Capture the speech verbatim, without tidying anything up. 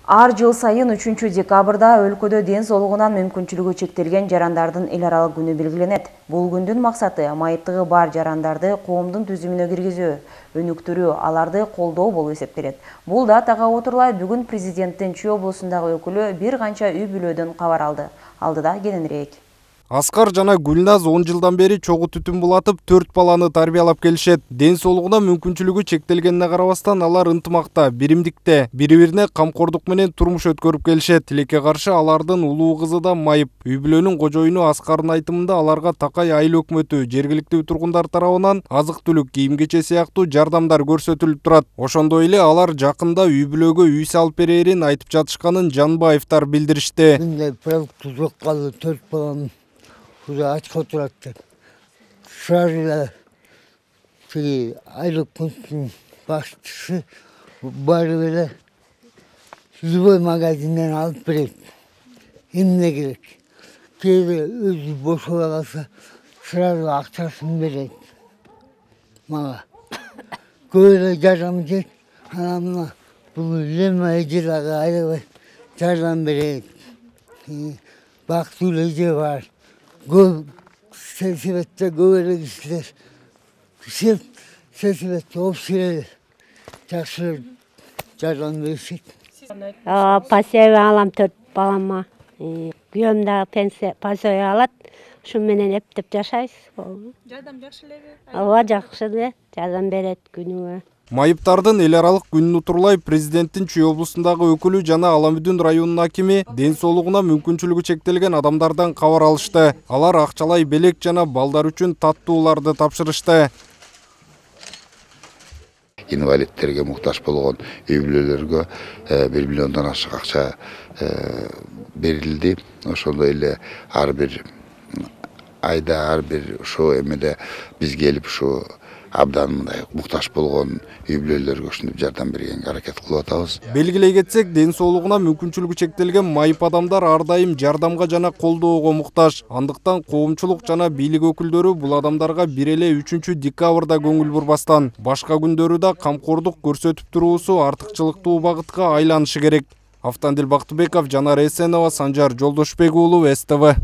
Ар жыл сайын үчүнчү декабрда өлкөдө ден соолугунан мүмкүнчүлүгү чектелген жарандардын эл аралык күнү белгиленет. Бул күндүн максаты майыптыгы бар жарандарды коомдун түзүмүнө киргизүү, өнүктүрүү, аларды колдоо болуп эсептелет. Бул датага отурлай бүгүн президенттин Чүй облусундагы өкүлү бир канча үй бүлөдөн кабар алды. Алдыда кененирээк. Аскар жана Гүлназ он жылдан бери чогуу түтүн булатып, төрт баланы тарбиялап келишет. Ден соолугуна мүмкүнчүлүгү чектелгенине карабастан алар ынтымакта, биримдикте, бири-бирине камкордук менен турмуш өткөрүп келишет. Тилекке каршы алардын улуу кызы да майып. Үй бүлөнүн кожоюну Аскардын айтымында аларга Такай айыл өкмөтү, жергиликтүү тургундар тарабынан азык-түлүк, кийим-кече сыяктуу жардамдар көрсөтүлүп турат. Ошондой эле алар жакында үй бүлөгө үй салып берерин айтып жатышканын Жанбаевдер билдиришти. төрт баланы ачка отурат деп. Сразу тиги айлык пункттун башчысы барып эле любой магазинден алып берет. Эмне керек? Кээде өзү бошобой калса, сразу акчасын берет мага. Көп эле жардам этет. Анан мына бул Лема эжерага аябай жардам берет. Бактылуу эже бар. Көп сельсоветте көп эле кишилер сельсоветте общий жакшы жардам беришет. Пособие алам төрт балама. Күйөөм дагы пенсия пособие алат. Ушу менен эптеп жашайбыз. Жардам жакшы элеби? Ооба, жакшы эле. Жардам берет күнүгө. Майыптардын эл аралык күнүн утурлай президенттин Чүй облусундагы өкүлү жана Аламүдүн районунун акими ден соолугуна мүмкүнчүлүгү чектелген адамдардан кабар алышты. Алар акчалай белек жана балдар үчүн таттууларды тапшырышты. Инвалидтерге муктаж болгон үй бүлөлөргө бир миллиондон ашык акча берилди. Ошондой эле ар бир айда ар бир ошо эмеде биз келип ушу абдан мындай муктаж болгон үй бүлөлөргө ушинтип жардам бергенге аракет кылып атабыз. Белгилей кетсек, ден соолугуна мүмкүнчүлүгү чектелген майып адамдар ар дайым жардамга жана колдоого муктаж. Андыктан коомчулук жана бийлик өкүлдөрү бул адамдарга бир эле үчүнчү декабрда көңүл бурбастан, башка күндөрү да камкордук көрсөтүп туруусу артыкчылыктуу багытка айланышы керек. Автандил Бактыбеков, Жанар Эсенова, Санжар Жолдошбек уулу, С Т В.